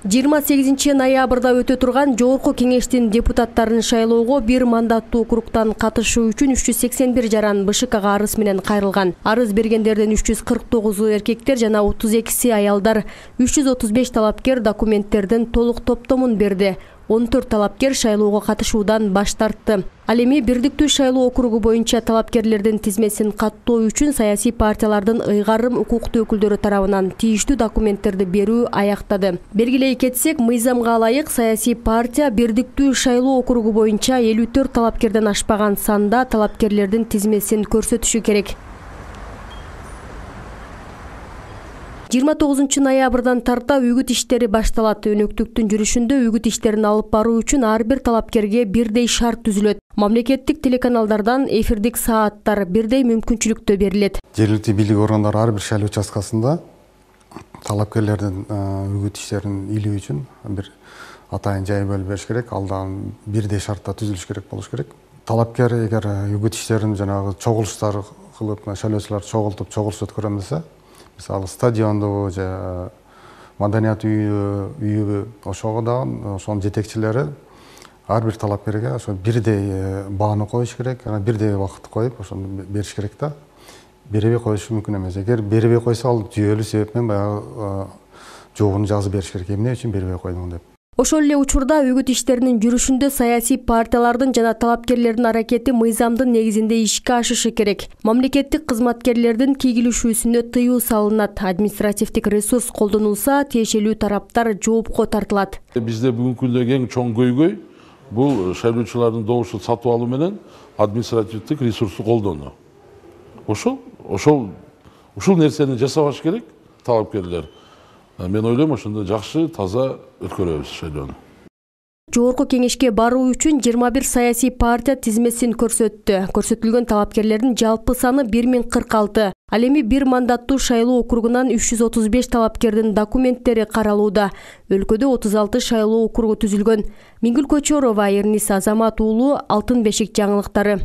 28 ноябрда өтө турган Жогорку кеңештин депутаттарын шайлоого бир мандаттуу округтан катышуу үчүн 381 жаран БШКга арыз менен кайрылган. Арыз бергендердин 349 эркектер жана 32 аялдар. 335 талапкер документтердин толук топтомун берди. 14 талапкер шайлоого катышуудан баш тартты. Ал эми бирдиктүү шайлоо округу боюнча талапкерлердин тизмесин каттоо үчүн саясий партиялардын ыйгарым укуктуу өкүлдөрү тарабынан тийиштүү документтерди берүү аяктады. Белгилей кетсек, мыйзамга ылайык саясий партия бирдиктүү шайлоо округу боюнча 54 талапкерден ашпаган санда талапкерлердин тизмесин көрсөтүшү керек. 29 ноябрдан тарта үгүт иштери башталат. Өнөктүктүн жүрүшүндө үгүт иштерин алып баруу үчүн ар бир талапкерге бирдей шарт түзүлөт. Мамлекеттик телеканалдардан эфирдик сааттар бирдей мүмкүнчүлүктө берилет. Жергиликтүү бийлик органдары ар бир шайлоо участкасында талапкерлердин үгүт иштерин илүү үчүн бир атайын жай бөлүп бериш керек. Ал дагы бирдей шартта түзүлүш керек болуш керек. Талапкер эгер үгүт иштерин жанагы чогулуштар кылып, шайлоочулар чогулуш өткөрөм десе, мисалы стадиондобу же маданият үйүбү, ошого дагы ошонун жетекчилери ар бир талапкерге ошо бирдей бааны коюш керек, жана бирдей убакыт коюп ошону бериш керек да. Бербей коюшу мүмкүн эмес. Эгер бербей койсо, ал жүйөлүү себеп менен баягы жообун жазып бериш керек. Эмне үчүн бербей койдуң деп. Ошол эле учурда үгүт иштеринин жүрүшүндө саясий партиялардын жана талапкерлердин аракети мыйзамдын негизинде ишке ашышы керек. Мамлекеттик кызматкерлердин кийгилишүүсүнө тыюу салынат. Административдик ресурс колдонулса, тиешелүү тараптар жоопко тартылат. Бизде бүгүнкү күндө эң чоң көйгөй бул шайлоочулардын добушун сатып алуу менен административдик ресурсту колдонуу. Ушул нерсени жасабаш керек талапкерлер. Мен ойлойм, ошондо жакшы, таза өткөрөбүз шайлоону. Жогорку кеңешке баруу үчүн 21 саясий партия тизмесин көрсөттү. Көрсөтүлгөн талапкерлердин жалпы саны 1046. Ал эми бир мандаттуу шайлоо округунан 335 талапкердин документтери каралууда. Өлкөдө 36 шайлоо округу түзүлгөн. Миңгүл Көчөрова, Эрнис Азамат уулу, Алтын бешик жаңылыктары.